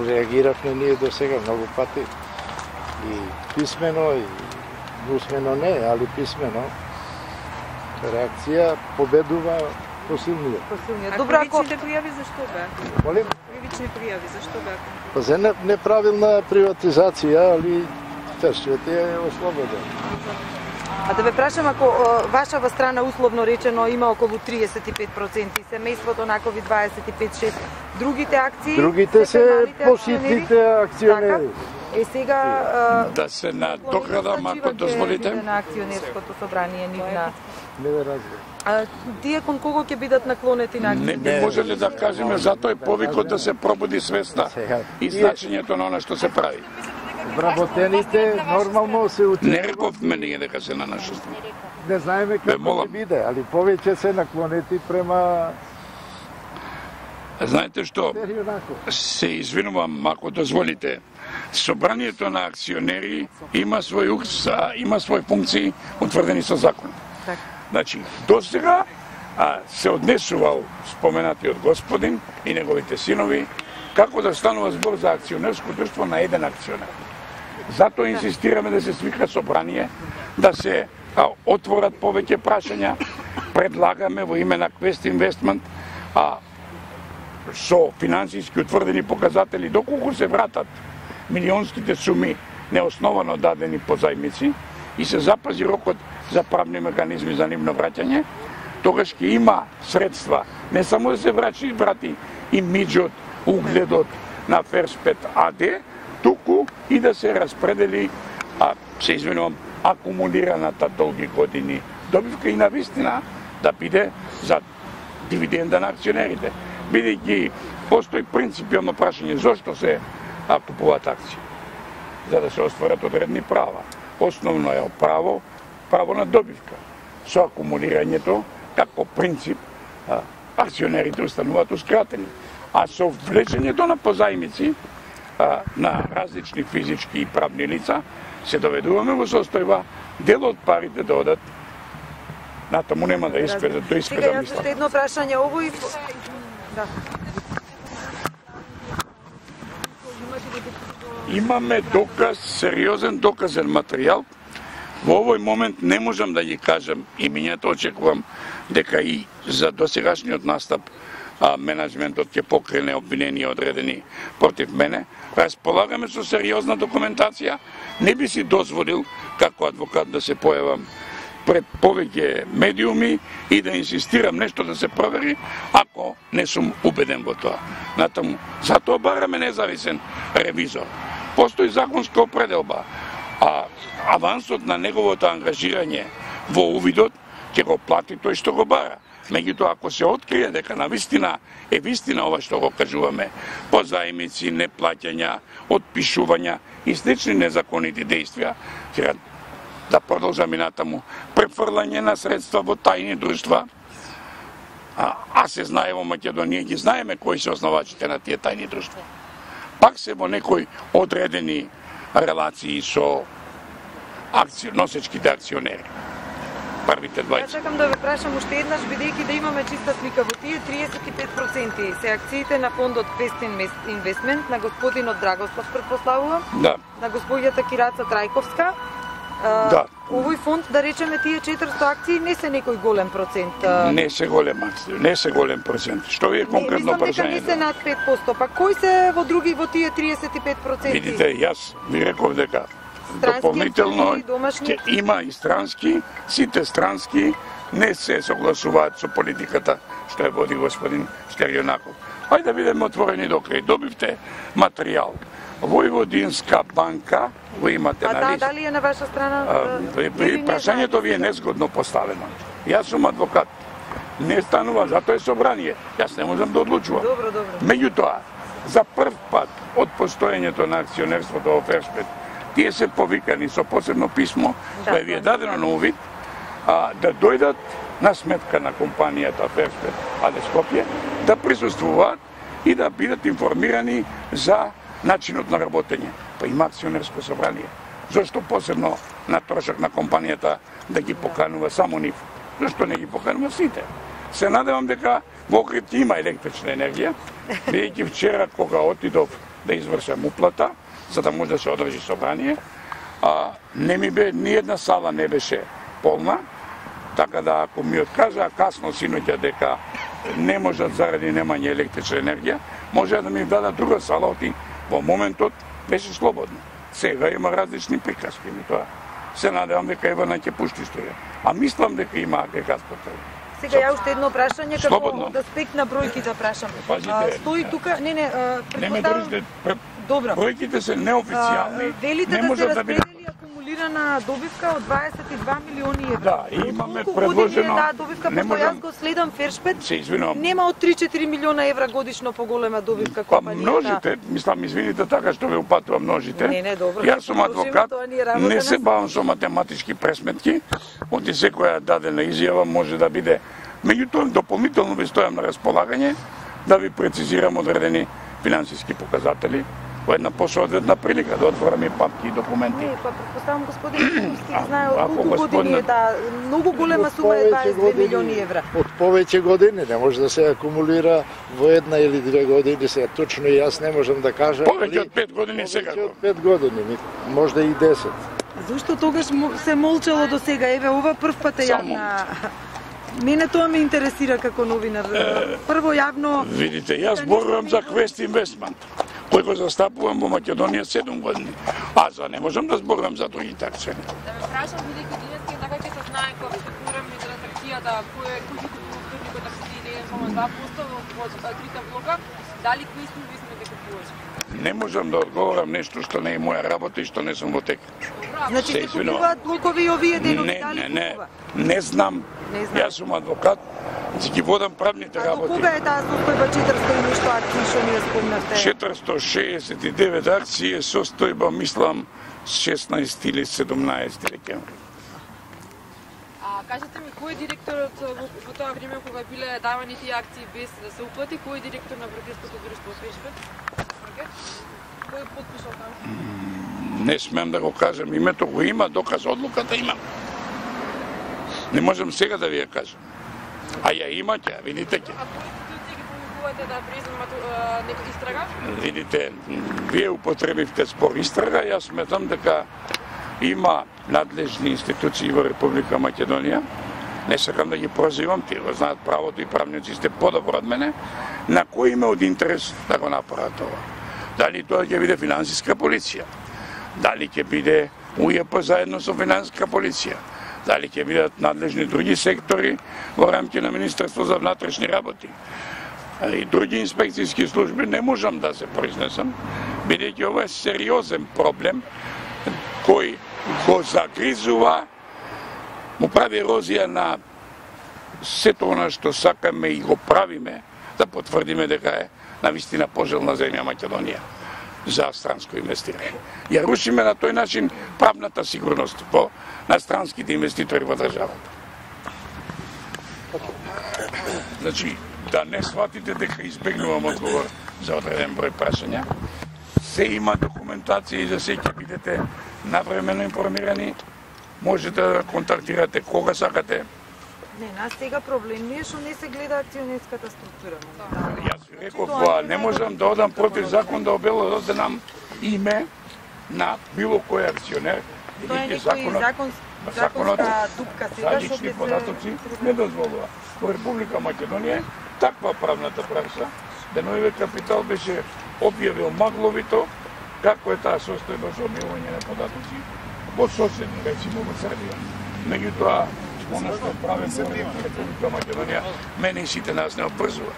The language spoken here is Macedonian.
Реагиравме ние до сега многу пати и писмено и усмено не, али писмено. Реакција победува посилниот. Добро, кривичните пријави зашто беа? Молим? Кривични пријави зашто беа? Па за неправилна приватизација, али Тершиот е ослободен. А да ве прашам, ако вашава страна условно речено има околу 35%, семејството накови 25-6, другите акции? Другите се поситните акционери. Сега да се надоградам, ако дозволите. На акционерското собрание нивна. Не ве разбирам. Тие кон кого ќе бидат наклонети на акции? Не би можеле да кажеме, затоа е повикот да се пробуди свеста и значењето на она што се прави. Вработените нормално се учат. Не рековме ние дека се на наша страна. Не знаеме како ќе биде, али повеќе се наклонети према... Знаете што? Се извинувам, ако дозволите. Собранието на акционери има свој функции утврдени со закон. Значи, досега се однесувал споменатиот господин и неговите синови како да станува збор за акционерско друштво на еден акционер. Затоа инсистираме да се свика собрание, да се отворат повеќе прашања, предлагаме во име на Quest Investment со финансиски утврдени показатели доколку се вратат милионските суми неосновано дадени по зајмици и се запази рокот за правни механизми за нивно враќање, тогаш ќе има средства не само да се врати имиџот, угледот на Ферспет АД, туку и да се распредели, се извинувам, акумулираната долги години добивка и навистина да биде за дивиденда на акционерите. Бидејќи постои принципиално прашање зошто се купуваат акции. За да се остварат одредни права. Основно е право на добивка. Со акумулирањето, како принцип, акционерите остануваат ускратени. А со влечењето на позајмици на различни физички и правни лица, се доведуваме во состојба дел од парите да одат натаму нема да испедат до испеда мисла. Сега јас едно прашање овој. Да. Имаме доказ, сериозен доказен материјал. Во овој момент не можам да ги кажам имињата, очекувам дека и за досегашниот настап менеджментот ќе покрене обвинени одредени против мене. Располагаме со сериозна документација. Не би си дозволил како адвокат да се појавам пред повеќе медиуми и да инсистирам нешто да се провери, ако не сум убеден во тоа. Натаму, затоа бараме независен ревизор. Постои законска определба, авансот на неговото ангажирање во увидот ќе го плати тој што го бара. Меѓутоа, ако се открие дека навистина е вистина ова што го кажуваме, позајмици, неплаќања, отпишувања и слични незаконити действија, да продолжам и натаму, префрлање на средства во тајни друштва, се знае во Македонија, ги знаеме кои се основачите на тие тајни друштва. Пак се во некои одредени релации со носечките акционери. Првите 20. Ја чекам да ве прашам уште еднаш, бидејќи да имаме чиста слика во тие 35% се акциите на фондот Quest Investment, на господинот Драгослав предпоставувам, на господјата Кираца Трајковска. Овој фонд, да речеме, тие 400 акции не се некој голем процент. Не се голем акции, не се голем процент. Што ви е конкретно прашање? Не се над 5%, па кои се во тие 35%? Видите, јас ви реков дека дополнително има и странски, сите странски не се согласуваат со политиката што ја води господин Стерјонаков. Ајде да бидеме отворени до крај. Добивте материјал. Војводинска банка, го имате на лист. Дали е на ваша страна? Прашањето ви е незгодно поставено. Јас сум адвокат. Не станува, затоа е собрание. Јас не можам да одлучувам. Добро. Меѓутоа, за прв пат од постоењето на акционерството во Ферспет, тие се повикани со посебно писмо, кое ви е дадено на увид, да дојдат на сметка на компанијата Ферспет АД Скопје, да присуствуваат и да бидат информирани за начинот на работење. Па има акционерско собрание. Зошто посебно на трошок на компанијата да ги поканува само нив? Зошто не ги поканува сите? Се надевам дека Во Охрид има електрична енергија, бидејќи вчера кога отидов да извршам уплата, за да може да се одржи собрание, не ми бе, ни една сала не беше полна, така да ако ми откажа касно синоќа дека не можат заради немање електрична енергија, може да ми дадат друга сала, оти во моментот беше слободно. Сега има различни приказки, тоа се надевам дека Евана ќе пушти струја. А мислам дека има агрегат потреба. Сега ја уште едно прашање како да спект на бројки да прашам. Стои тука, предпоставам. Добро. Бројките се неофицијални. Велите да се распредели акумулирана добивка од 22 милиони евра. Да, и имаме предложено. Да, добивка, пошто јас го следам Фершпет. Се извинувам. Нема од 3-4 милиона евра годишно поголема добивка компанија. Множите, мислам, извините така што ве упатува множите. Не, добро. Јас сум адвокат, не се бавам со математички пресметки, оти секоја дадена изјава може да биде. Меѓутоа, дополнително ви стојам на располагање да ви прецизирам одредени финансиски показатели во една посоодветна прилика да отвораме папки и документи. Не, предпоставам господин Кустик знае од колку години е многу голема сума е 22 милиони евра. Од повеќе години не може да се акумулира во една или две години, сега точно и јас не можам да кажам. Повеќе од 5 години сега. Повеќе од 5 години, можда и 10. Зошто тогаш се молчало до сега? Еве, ова прв пат е јавна. Мене тоа ме интересира како новинар. Прво јавно... Видите, јас зборувам за Quest Investment, кој го застапувам во Македонија 7 години. А за не можам да зборувам за другите акционери. Да ме прашам, бидејќи денеска така ќе се знае кога спекулираме транзакцијата, кој купува таксите само 2% во трите блока, дали Quest Investment дека купуваш? Не можам да одговорам нешто што не е моја работа и што не сум во тек. Значи се купуваат блокови овие денови, дали купува? Не знам. Јас сум адвокат, си ги водам правните работи. А до кога е таа состојба 400 и нешто акции што ми ја спомнавте? 469 акции е состојба, мислам, 16 или 17 декември. Кажете ми, кој е директорот во тоа време кога биле давани тие акции без да се уплати, кој е директор на брокерското друштво Фершпет? Кој потпишал таму? Не смем да го кажам името, го има, доказ одлуката имам. Не можам сега да ви ја кажам. А ја има ќе, видите ќе. А кои институции ги помогувате да преземат нека истрага? Видите, вие употребивте спор истрага, јас сметам дека има надлежни институции во Република Македонија. Не сакам да ги прозивам, тие го знаат правото и правниците подобро од мене, на кој има од интерес да го направат ова. Дали тоа ќе биде финансиска полиција, дали ќе биде УЈП заедно со финансиска полиција, дали ќе бидат надлежни други сектори во рамки на Министерство за внатрешни работи и други инспекцијски служби, не можам да се произнесам, бидејќи ова е сериозен проблем кој го загризува, му прави ерозија на сето она што сакаме и го правиме, да потврдиме дека е навистина пожелна земја Македонија за странско инвестирање. Ја рушиме на тој начин правната сигурност на странските инвеститори во државата. Значи, да не сватите дека избегнувам одговор за одреден број прашања. Се има документација и за се ќе бидете навремено информирани. Можете да контактирате кога сакате. Не, нас сега проблем не е што не се гледа акционерската структура. Јас ви реков, не можам да одам против закон да обелодам име на било кој акционер. Тоа е некој законска дупка сега што лични податоци не дозволува. Во Република Македонија таква правната пракса, Деновиве Капитал беше објавил магловито како е таа состојба со објавување на податоци во соседни, речимо во Србија. Меѓутоа, оно што правим во Република Македонија, мене и сите нас не обврзува.